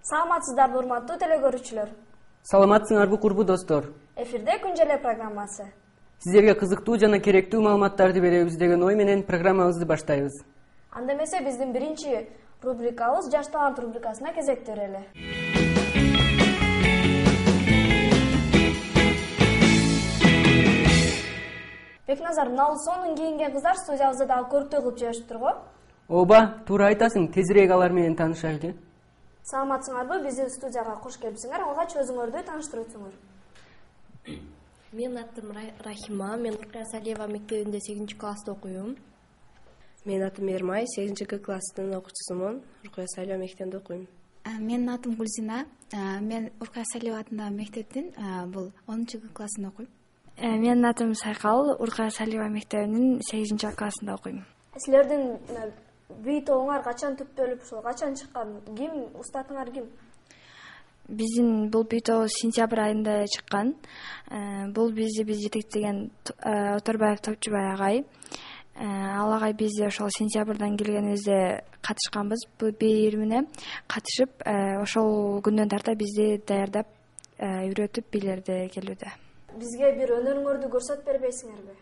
Саламатсыздарбы, урматтуу телекөрүүчүлөр. Саламатсыңарбы, курбу достор. Эфирде Күн желе программасы. Сиздерге кызыктуу жана керектүү маалыматтарды беребиз деген ой менен программабызды баштайбыз. Анда эмесе биздин биринчи рубрикабыз Жаш талант рубрикасына кезек берели. Бекназар, мына сонун кийинген кыздар студиябызда дагы көрктөй кылып жибериптир го. Ооба, туура айтасың. Тезирээк алар менен таанышайлы. Саламатсыңарбы? Биздин студияга кош келипсиңер. Алгач өзүңөрдү тааныштырып өтсөңөр. Менин атым Рахима, мен Уркая Салиева мектебинде 8 класста окуйм. Менин атым Эрмай, 8 класстын окуучусумун. Уркая Салиева мектебинде окуйм. Менин атым Гүлзина, мен Уркая Салиева атындагы мектептин бул 10 классында окуйм. Менин атым Сайкал, Уркая Салиева мектебинин 8 классында окуйм. Силердин бий тобуңар качан түптөлүп, ошол качан чыккан? Ким, устатыңар ким? Биздин бул бий тобу сентябрь айында чыккан. Бул биз жетектеген Оторбаев Топчубай агай. Ал агай биз ошол сентябрдан келгенибизде катышканбыз. Бул бий ийримине катышып, ошол күндөн тарта бизди даярдап, үйрөтүп бийлерди келүүдө. Бизге бир өнөрүңөрдү көрсөтүп бербейсиңерби?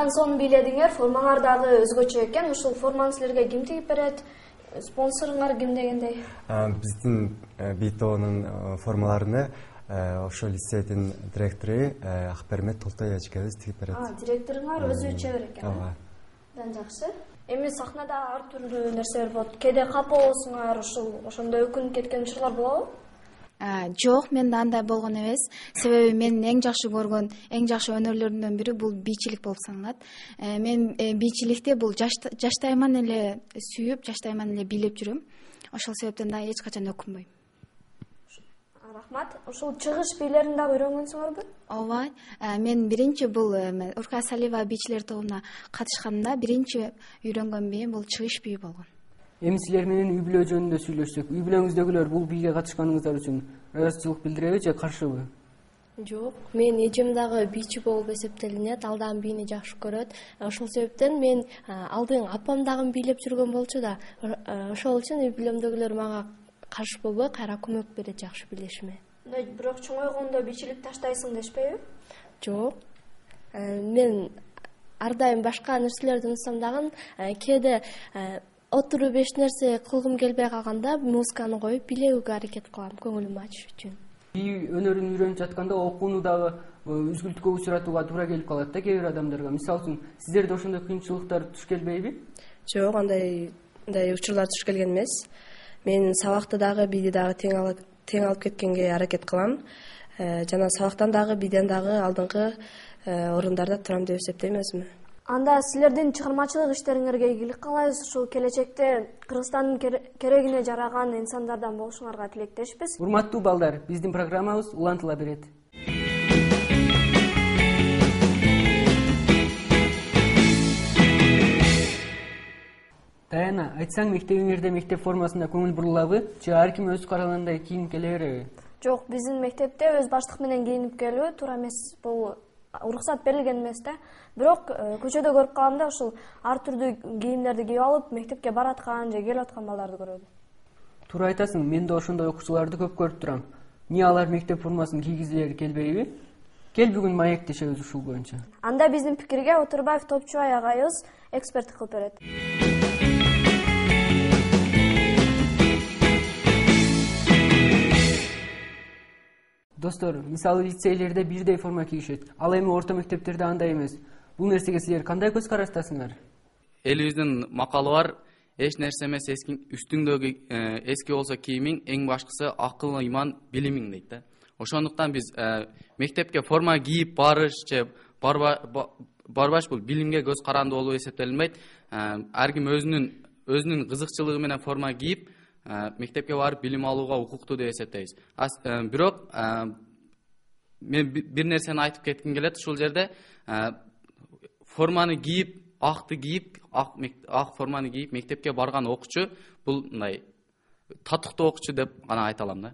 Андан соң бийледиңер, формалар дагы өзгөчө экен. Ушул форманы силерге ким тигип берет? Спонсоруңар ким дегендей? Биздин БИТОнун формаларыны ошол лицейдин директору Акбермет Толтой эжекебиз тигип берет. Директоруңар өзү чебер экен. Ооба. Абдан жакшы. Эми сахнада ар түрдүү нерселер болот. Кээде капа болосуңар, ошондой өкүнүп кеткен учурлар болобу? Жок, менде андай болгон эмес. Себеби менин эң жакшы көргөн, эң жакшы өнөрлөрүмдөн бири бул бийчилик болуп саналат. Мен бийчиликти бул жаштайман эле сүйүп, жаштайман эле бийлеп жүрөм. Ошол себептен да эч качан өкүнбөйм. Рахмат. Ушул чыгыш бийлерин дагы үйрөнгөнсүңөрбү? Ооба. Мен биринчи бул Уркая Салиева бийчилер тобуна катышканымда биринчи үйрөнгөн бийим бул чыгыш бийи болгон. Эми силер менен үй бүлө жөнүндө сүйлөшсөк, үй бүлөңүздөгүлөр бул бийге катышканыңыздар үчүн ыраазычылык билдиреби же каршыбы? Жок, мен эжем дагы бийчи болуп эсептелинет, ал дагы бийни жакшы көрөт. Ошол себептен мен алдын апам дагы бийлеп жүргөн болчу да, ошол үчүн үй бүлөмдөгүлөр мага каршы болбой, кайра көмөк берет жакшы билишиме. Бирок чоңойгондо бийчилик таштайсың дешпейби? Жок. Мен ар дайым башка нерселерди унутсам дагы, кээде отуруп эч нерсе кылгым келбей калганда музыканы коюп бийлөөгө аракет кылам, көңүлүмдү ачыш үчүн. Бий өнөрүн үйрөнүп жатканда окууну дагы үзгүлтүккө учуратууга туура келип калат да кээ бир адамдарга. Мисалы үчүн, сиздерде ошондой кыйынчылыктар туш келбейби? Жок, андай учурлар туш келген эмес. Мен сабакты дагы бийди дагы тең алып кеткенге аракет кылам. Жана сабактан дагы бийден дагы алдыңкы орундарда турам деп эсептейм өзүмө. Анда силердин чыгармачылык иштериңерге ийгилик каалайбыз. Ушул келечекте Кыргызстандын керегине жараган инсандардан болушуңарга тилектешпиз. Урматтуу балдар, биздин программабыз улантыла берет. Даяна, айтсаң мектебиңерде мектеп формасында көңүл бурулабы же ар ким өз карагандай кийинип келе береби? Жок, биздин мектепте өз баштык менен кийинип келүү туура эмес. Бул уруксат берилген эмес да. Бирок көчөдө көрүп каламда ушул ар түрдүү кийимдерди кийип алып мектепке бараткан же келип аткан балдарды көрөм. Туура айтасың, мен да ошондой окуучуларды көп көрүп турам. Эмне алар мектеп формасын кийгизгилери келбейби? Кел бүгүн маектешебиз ушул боюнча. Анда биздин пикирге Отурбаев Топчубай агайыбыз эксперттик кылып берет. Достор, мисалы лицейлерде бирдей форма кийишет. Ал эми орто мектептерде андай эмес. Бул нерсеге силер кандай көз караштасыңар? Элибиздин макалы бар, эч нерсе эмес үстүңдөгү эски болсо кийимиң, эң башкысы акыл, ыйман, билимиң дейт да. Ошондуктан биз мектепке форма кийип барыш же барбаш бул билимге көз каранды болуп эсептелинбейт. Ар ким өзүнүн кызыкчылыгы менен форма кийип мектепке барып билим алууга укуктуу деп эсептейбиз. Бирок мен бир нерсени айтып кетким келет ушул жерде. Форманы кийип, акты кийип, ак форманы кийип мектепке барган окуучу бул мындай татыктуу окуучу деп гана айта алам да.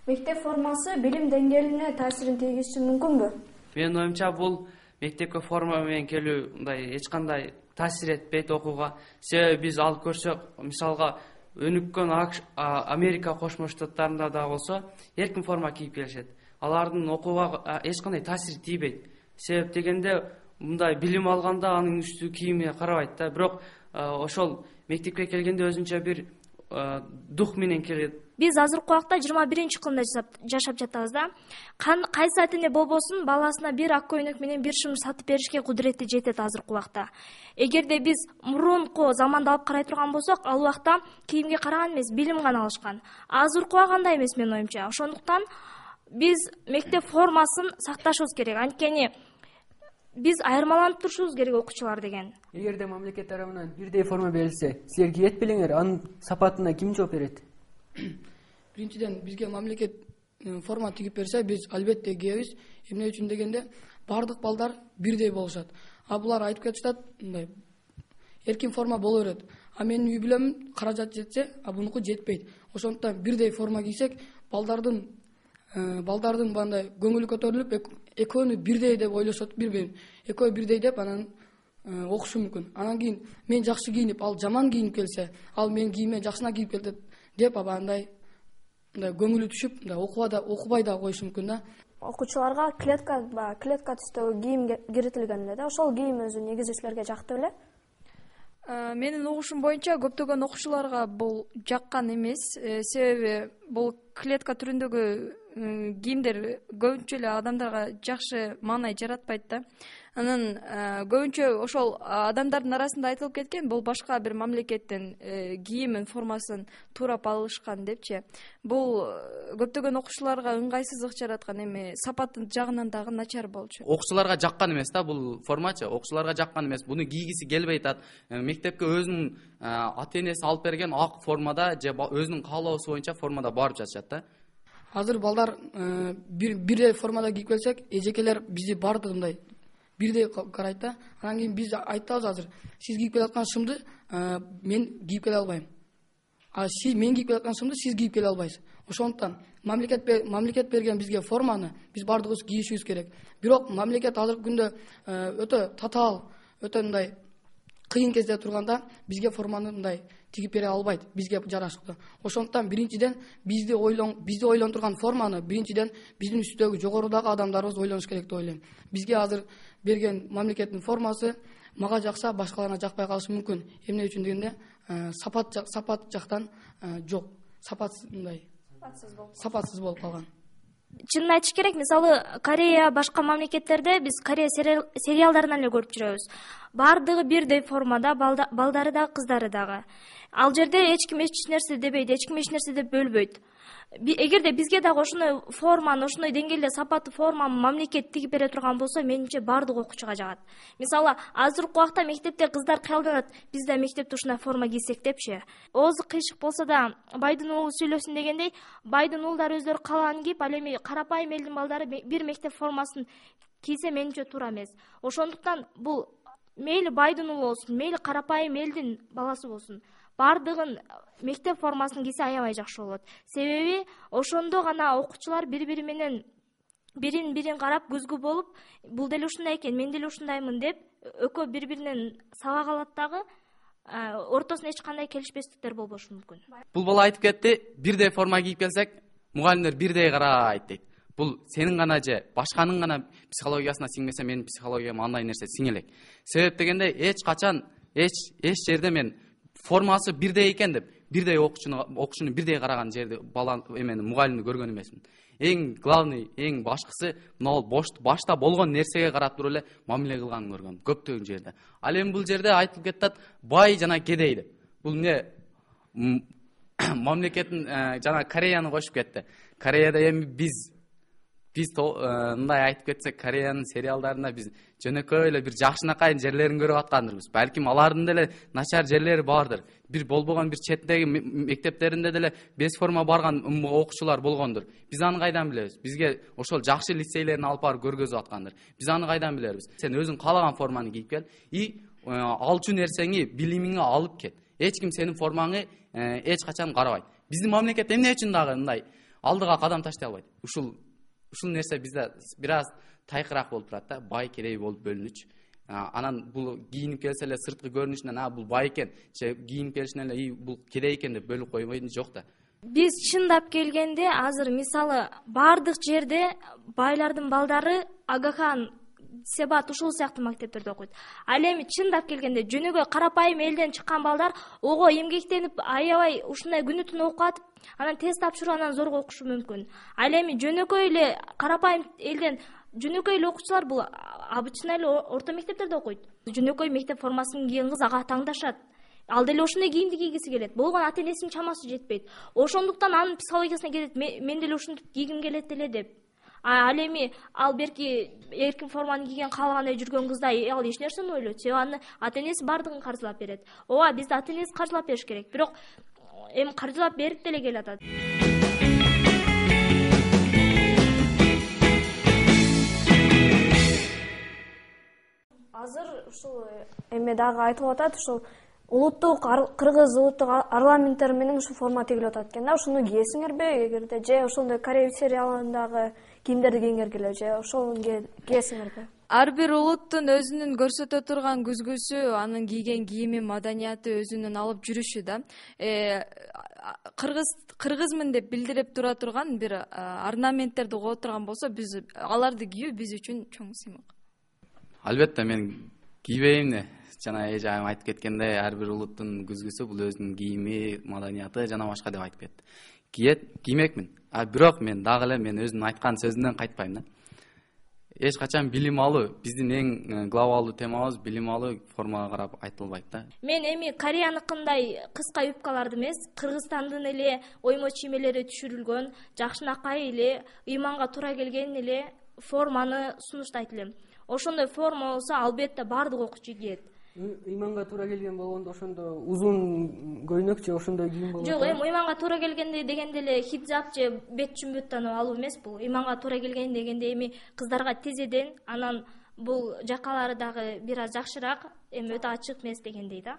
Мектеп формасы билим деңгээлине таасирин тийгизиши мүмкүнбү? Менин оюмча бул мектепке форма менен келүү мындай эч кандай таасир этпейт окууга. Себеби биз алып көрсөк, мисалга өнүккөн Америка Кошмо Штаттарында да болсо эркин форма кийип келишет. Алардын окууга эч кандай таасир тийбейт. Себеп дегенде мындай билим алганда анын үстү кийимине карабайт да. Бирок ошол мектепке келгенде өзүнчө бир дух менен келет. Биз азыркы убакта 21-кылымда жашап жатабыз да. Кайсы ата эне болбосун баласына бир ак көйнөк менен бир шымыр сатып беришке кудурети жетет азыркы убакта. Эгерде биз мурунку заманда алып карай турган болсок, ал убакта кийимге караган эмес, билим гана алышкан. Азыркы убакта андай эмес менин оюмча. Ошондуктан биз мектеп формасын сакташыбыз керек. Анткени биз айырмаланып турушубуз керек окуучулар деген. Эгерде мамлекет тарабынан бирдей форма берилсе, силер кийет белеңер, анын сапатына ким жооп берет? Биринчиден бизге мамлекет форма тигип берсе, биз албетте кийебиз. Эмне үчүн дегенде, бардык балдар бирдей болушат. А булар айтып кетишат, мындай эркин форма боло берет. А менин үй бүлөм каражат жетсе, а бунуку жетпейт. Ошондуктан бирдей форма кийсек, балдардын мындай көңүлү көтөрүлүп, экөөнү бирдей деп ойлошот бирбирин. Экөө бирдей деп анан окушу мүмкүн. Анан кийин мен жакшы кийинип, ал жаман кийинип келсе, ал менин кийимиме жакшына кийип келди деп андай көңүлү түшүп, окубай да коюшу мүмкүн да. окуучуларга клетка түстөгү кийим киритилген эле да. Ошол кийим өзү негизичилерге жакты беле? Менин угушум боюнча көптөгөн окуучуларга бул жаккан эмес. Себеби бул клетка түрүндөгү кийимдер көбүнчө эле адамдарга жакшы маанай жаратпайт да. Анан көбүнчө ошол адамдардын арасында айтылып кеткен, бул башка бир мамлекеттин кийимин формасын туурап алышкан депчи. Бул көптөгөн окуучуларга ыңгайсыздык жараткан, эми сапаты жагынан дагы начар болчу. Окуучуларга жаккан эмес да бул формачы. Окуучуларга жаккан эмес. Буну кийгиси келбей атат. Мектепке өзүнүн ата-энеси алып берген ак формада же өзүнүн каалоосу боюнча формада барып жатышат да. Азыр балдар бирдей формада кийип келсек, эжекелер бизди баардыгындай бирдей карайт да. Анан кийин биз айтабыз азыр, сиз кийип келаткан шымды мен кийип келе албайм. Мен кийип келаткан шымды сиз кийип келе албайсыз. Ошондуктан мамлекет берген бизге форманы биз баардыгыбыз кийишибиз керек. Бирок мамлекет азыркы күндө өтө татаал, өтө мындай кыйын кезде турганда бизге форманы мындай тигип бере албайт, бизге жарашыктуу. Ошондуктан биринчиден бизди ойлонтурган форманы биринчиден биздин үстүдөгү жогорудагы адамдарыбыз ойлонуш керек деп ойлойм. Бизге азыр берген мамлекеттин формасы мага жакса, башкаларына жакпай калышы мүмкүн. Эмне үчүн дегенде сапат жактан жок. Сапатсыз болуп калган. Чынын айтыш керек, мисалы Корея, башка мамлекеттерде биз Корея сериалдарынан эле көрүп жүрөбүз. Бардыгы бирдей формада, балдары да, кыздары дагы. Ал жерде эч ким эч нерсе дебейт, эч ким эч нерсе деп бөлбөйт. Эгерде бизге дагы ошондой форманы, ошондой деңгээлде сапаттуу форманы мамлекет тигип бере турган болсо, менимче бардык окуучуга жагат. Мисалы, азыркы убакта мектепте кыздар кыялданат, биз да мектепте ушундай форма кийсек депчи. Оозу кыйшык болсо да байдын уулу сүйлөсүн дегендей, байдын уулдары өздөрү каалаган кийип, ал эми карапайым элдин балдары бир мектеп формасын кийсе менимче туура эмес. Ошондуктан бул мейли байдын уулу болсун, мейли карапайым элдин баласы болсун, бардыгын мектеп формасын кийсе аябай жакшы болот. Себеби ошондо гана окуучулар бири-бири менен бирин карап көзгү болуп, бул деле ушундай экен, мен деле ушундаймын деп экөө бири-биринен сабак алат дагы, ортосунда эч кандай келишпестиктер болбошу мүмкүн. Бул бала айтып кетти, бирдей форма кийип келсек, мугалимдер бирдей карайт дейт. Бул сенин гана же башканын гана психологиясына сиңмесе, менин психологияма андай нерсе сиңелек. Себеп дегенде эч качан эч жерде мен формасы бирдей экен деп бирдей окуучуну бирдей караган жерде бала мугалимди көргөн эмесмин. Эң главный, эң башкысы мына башта болгон нерсеге карап туруп эле мамиле кылганын көргөм көптөгөн жерде. Ал эми бул жерде айтылып кетет бай жана кедей деп. Бул эмне мамлекеттин жана Кореяны кошуп кетти. Кореяда эми биз мындай айтып кетсек, Кореянын сериалдарында биз жөнөкөй эле бир жакшынакай жерлерин көрүп аткандырбыз. Балким алардын деле начар жерлери бардыр. Бир болбогон бир четтеги мектептеринде деле без форма барган окуучулар болгондур. Биз аны кайдан билебиз? Бизге ошол жакшы лицейлерин алып барып көргөзүп аткандыр. Биз аны кайдан билебиз? Сен өзүң каалаган форманы кийип кел и алчу нерсеңи, билимиңи алып кет. Эч ким сенин формаңы эч качан карабайт. Биздин мамлекет эмне үчүн дагы мындай алдыга кадам таштай албайт? Ушул нерсе бизде бир аз тайкыраак болуп турат да, бай кедей болуп бөлүнүч. Анан бул кийинип келсе эле сырткы көрүнүшүнөн бул бай экен, же кийинип келишинен эле бул кедей экен деп бөлүп койбойт жок да. Биз чындап келгенде азыр мисалы бардык жерде байлардын балдары Агахан, Себат ушул сыяктуу мектептерде окуйт. Ал эми чындап келгенде жөнөкөй карапайым элден чыккан балдар ого эмгектенип аябай ушундай күнү түнү окуп атып, анан тест тапшырып анан зорго окушу мүмкүн. Ал эми жөнөкөй эле карапайым элден жөнөкөй эле окуучулар бул обычный эле орто мектептерде окуйт. Жөнөкөй мектеп формасын кийген кыз ага таңдашат. Ал деле ошондой кийимди кийгиси келет. Болгон ата-энесинин чамасы жетпейт. Ошондуктан анын психологиясына келет, мен деле ушинтип кийгим келет эле деп. Ал эми ал берки эркин форманы кийген каалагандай жүргөн кызда ал эч нерсени ойлойт. Себеби аны ата-энеси бардыгын каржылап берет. Ооба, бизде ата-энеси каржылап бериш керек. Бирок эми каржылап берип деле келатат. Азыр ушул эме дагы айтылып атат, ушул улуттук кыргыз улуттук парламенттери менен ушул форма тигилип атат экен да. Ушуну кийесиңерби эгерде же ошондой Корея сериалындагы кийимдерди кийиңер келе же ошол кийесиңерби? Ар бир улуттун өзүнүн көрсөтө турган күзгүсү, анын кийген кийими, маданияты, өзүнүн алып жүрүшү да. кыргызмын деп билдирип тура турган бир орнаменттерди коо турган болсо, биз аларды кийүү биз үчүн чоң сыймык. Албетте мен кийбейм да. Жана эжайым айтып кеткендей, ар бир улуттун күзгүсү бул өзүнүн кийими, маданияты жана башка деп айтып кетти. Киймекмин. Бирок мен дагы эле мен өзүмдүн айткан сөзүмдөн кайтпайм да. Эч качан билим алуу, биздин эң глобалдуу темабыз билим алуу формага карап айтылбайт да. Мен эми Кореяныкындай кыска юбкаларды эмес, Кыргызстандын эле оймо чиймелери түшүрүлгөн, жакшынакай эле, ыйманга туура келген эле форманы сунуштайт элем. Ошондой форма болсо албетте баардык окуучу кийет. Ыйманга туура келген болгондо ошондо узун көйнөк же ошондой кийим болот. Жок, эми ыйманга туура келгенде дегенде эле хиджаб же бет чүмбүттанып алуу эмес бул. Ыйманга туура келген дегенде эми кыздарга тизеден, анан бул жакалары дагы бир аз жакшыраак, эми өтө ачык эмес дегендей да.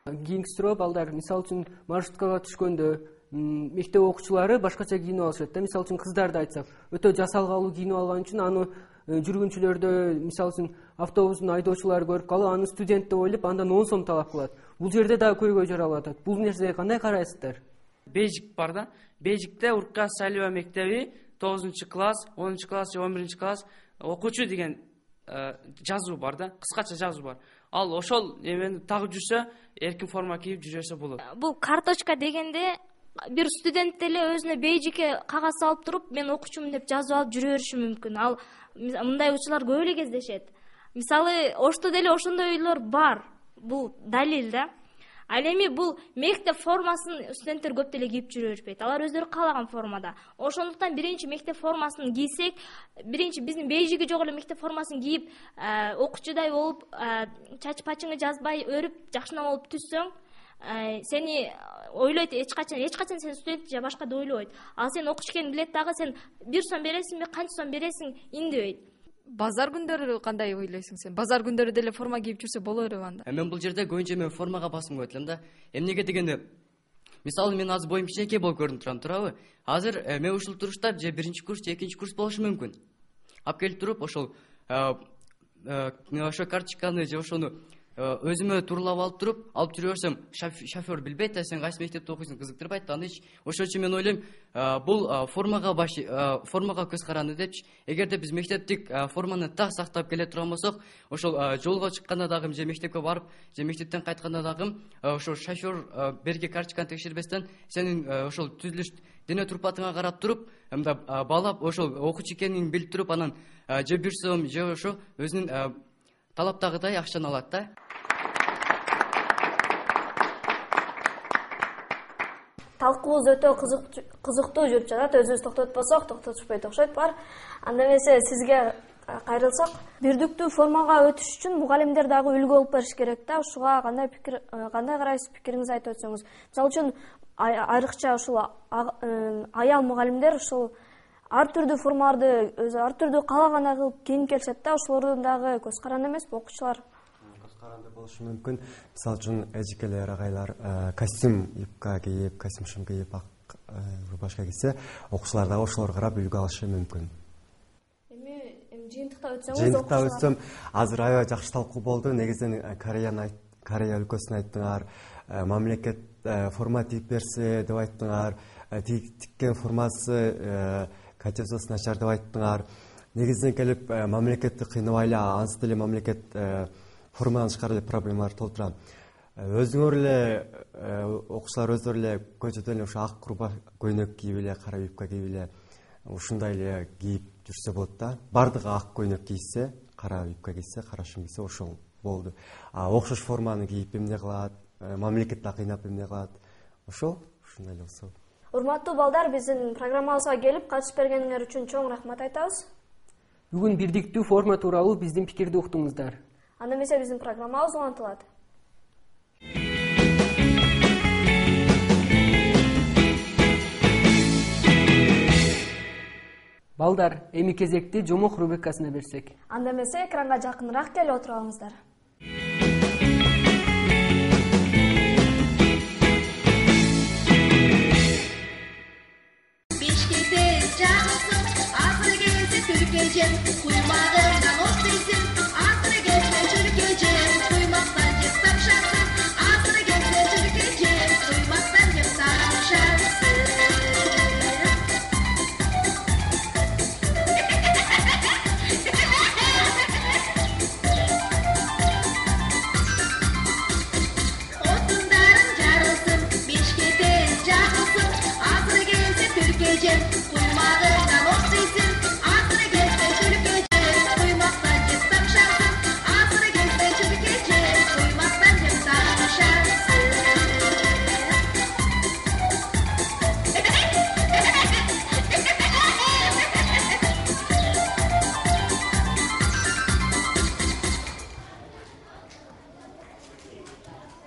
Кийинкисирээк балдар, мисалы үчүн маршруткага түшкөндө мектеп окуучулары башкача кийинип алышат да. Мисалы үчүн кыздарды айтсак, өтө жасалгалуу кийинип алган үчүн аны жүргүнчүлөрдө, мисалы үчүн автобустун айдоочулары көрүп калып, аны студент деп ойлоп, андан 10 сом талап кылат. Бул жерде дагы көйгөй жаралып атат. Бул нерсеге кандай карайсыздар? Бейжик бар да. Бейжикте Уркас Салиева мектеби 9 класс, 10 класс же 11 класс окуучу деген жазуу бар да, кыскача жазуу бар. Ал ошол эмени тагып жүрсө, эркин форма кийип жүрөсө болот. Бул карточка дегенде бир студент деле өзүнө бейжикке кагаз алып туруп, мен окуучумун деп жазып алып жүрө бериши мүмкүн. Ал мындай учурлар көп эле кездешет. Мисалы, Ошто деле ошондой ойлор бар. Бул далил да. Ал эми бул мектеп формасын студенттер көп деле кийип жүрө беришпейт. Алар өздөрү каалаган формада. Ошондуктан биринчи мектеп формасын кийсек, биринчи биздин бейжиги жок эле мектеп формасын кийип, окуучудай болуп, чач пачыңы жазбай өрүп, жакшына болуп түссөң, сени ойлойт эч качан сен студент же башка деп ойлобойт. Ал сен окуш экенин билет дагы, сен 1 сом бересиңби, канча сом бересиң индебейт. Базар күндөрү кандай ойлойсуң сен? Базар күндөрү деле форма кийип жүрсө боло береби анда? Мен бул жерде көбүнчө мен формага басым коет элем да. Эмнеге дегенде, мисалы мен азыр боюм кичинекей болуп көрүнүп турам, туурабы? Азыр мен ушул турушта же 1 курс же 2 курс болушу мүмкүн. Алып келип туруп, ошол карточканы же ошону өзүмө турлап алып туруп, алып жүрө берсем, шофер билбейт да, сен кайсы мектепте окуйсуң, кызыктырбайт да. Аны ошон үчүн мен ойлойм, бул формага көз каранды депчи. Эгерде биз мектептик форманы так сактап келе турган болсок, ошол жолго чыкканда дагы же мектепке барып, же мектептен кайтканда дагы ошол шофер берги карточканы текшербестен сенин ошол түзүлүш дене турпатыңа карап туруп, мындай баалап, ошол окуучу экенин билип туруп, анан же 1 сом же ошо өзүнүн талаптагыдай акчаны алат да. Талкуубуз өтө кызыктуу жүрүп жатат. Өзүбүз токтотпосок, токтотушпойт окшойт бар. Анда эмесе сизге кайрылсак, бирдиктүү формага өтүш үчүн мугалимдер дагы үлгү болуп бериш керек да. Ушуга кандай карайсыз, пикириңизди айтып өтсөңүз. Мисалы үчүн айрыкча ушул аял мугалимдер ушул ар түрдүү формаларды өзү ар түрдүү каалагандай кылып кийинип келишет да. Ошолордун дагы көз каранды эмеспи окуучулар? Каранды болушу мүмкүн. Мисалы үчүн эжекелер агайлар костюм юбка кийип, костюм шым кийип, ак рубашка кийсе, окуучулар дагы ошолорго карап үлгү алышы мүмкүн. Эми жыйынтыктап өтсөм, азыр аябай жакшы талкуу болду. Негизинен Корея өлкөсүн айттыңар, мамлекет форма тигип берсе деп айттыңар, тиккен формасы качествосу начар деп айттыңар. Негизинен келип мамлекетти кыйнабайлы, ансыз деле мамлекет форманы чыгарып эле проблемалар толтурат. Өзүңөр эле окуучулар өздөрү эле көчөдөн ошо ак көйнөк кийип эле, кара юбка кийип эле, ушундай эле кийип жүрсө болот да. Бардыгы ак көйнөк кийсе, кара юбка кийсе, кара шым кийсе, ошол болду. Окшош форманы кийип эмне кылат, мамлекет да кыйнап эмне кылат. Ушундай эле болсо. Урматтуу балдар, биздин программабызга келип катышып бергениңер үчүн чоң рахмат айтабыз. Бүгүн бирдиктүү форма тууралуу биздин пикирди уктуңуздар. Анда эмесе биздин программабыз улантылат. Балдар, эми кезекти жомок рубрикасына берсек. Анда эмесе экранга жакыныраак келип отуруп алыңыздар. Бишкекте жагылсын, азыр келсе түркөжен, куймагына от дейсин, азыр келсе түркөжен, куймактан жыкса түлкөжем, куймагыңдан окшойсуң, акыры келсе түлкөжем, куймактан жеп тапшарсың, акыры келсе түлкөжем, куймактан жеп тапшарсың.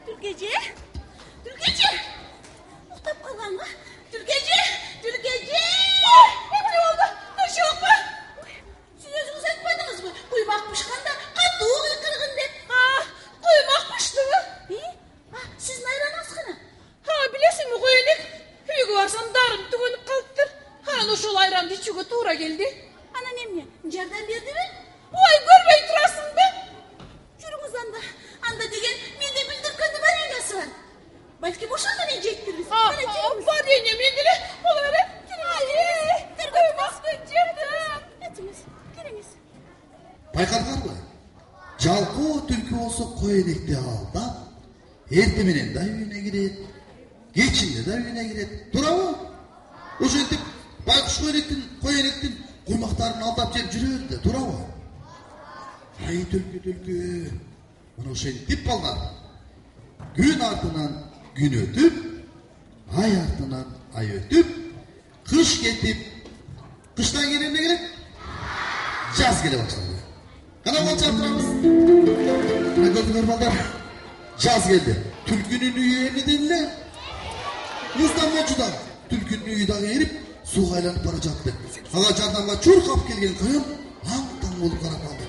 Түлкөжө, Түлкөжө, уктап калганбы? Түлкөжө, Түлкөжө. Эмне болду? Ошокпу? Сиз өзүңүз айтпадыңызбы? Куймак пышканда катуу кыйкыргын деп. Куймак пыштыбы? Сиздин айраныңыз кана? Билесизби, коелек. Үйгө барсам дарым түгөнүп калыптыр. Анан ошол айранды ичүүгө туура келди. Анан эмне? Жардам бердиби? Ой, көрбөй турасыңбы? Жүрүңүз анда. Анда деген менде бүлдүркөндү вареньясы бар. Балким ошондон эле жейт-тирбиз. Варенье менде эле боло берет. Этиңиз, келиңиз. Байкадыңарбы? Жалкоо түлкү болсо коенекти алдап, эрте менен да үйүнө кирет, кечинде да үйүнө кирет. Туурабы? Ошентип байкуш коенектин куймактарын алдап жеп жүрөт да, туурабы? Ай түлкү. Мына ошентип балдар. Күн артынан күн өтүп, ай артынан ай өтүп, кыш кетип, кыштан кийин эмне келет? Жаз келе баштады. Кана болчап турабыз. Мына көрдүңөр балдар. Жаз келди. Түлкүнүн үйү эмнеден эле? Муздан болчу да. Түлкүнүн үйү дагы эрип, сууга айланып бара жатты. Ага жардамга чуркап келген коен аң-таң болуп карап калды.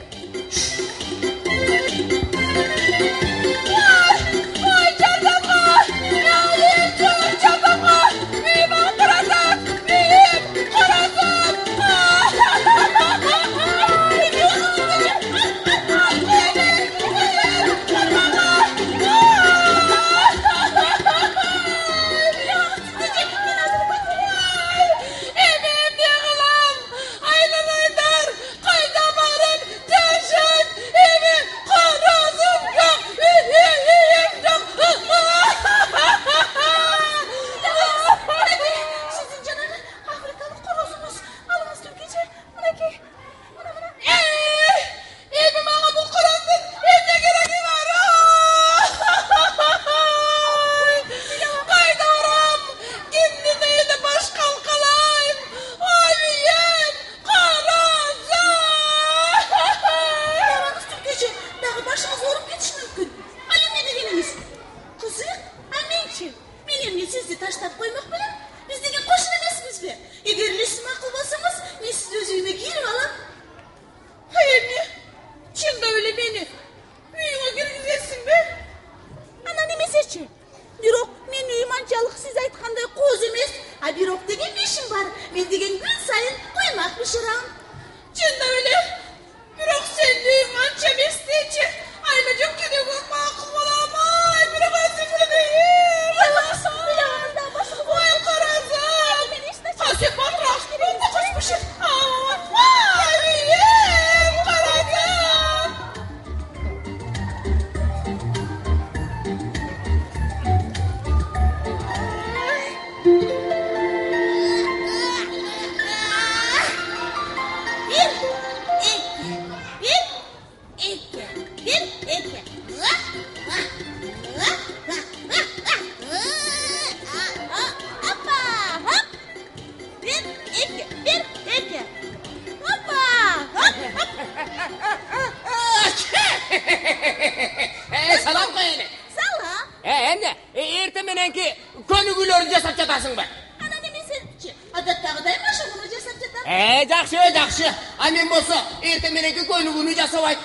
Жакшы. А мен болсо эртең мененки көйнүгүнү жасабай.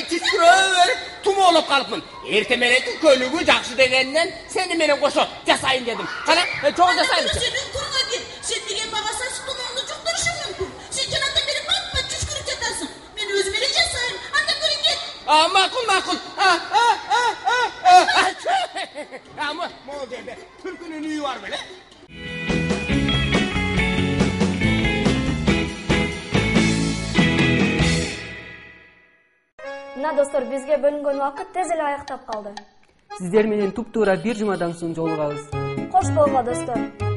Түшкүрөбөр, тумоолоп калыпмын. Эртең мененки көйнүгү жакшы дегенден сени менен кошо жасайын дедим. Кана, чоң жасайын. Сен деген мага сасык тумоолду жуктурушуң мүмкүн. Сен жанатан бери бат түшкүрүп жатасың. Мен өзүм эле жасайм. Анда көрүн кет. Макул. Могул жерде түлкүнүн үйү бар беле? Мына достор, бизге бөлүнгөн убакыт тез эле аяктап калды. Сиздер менен туп-туура бир жумадан соң жолугабыз. Кош болгула достор.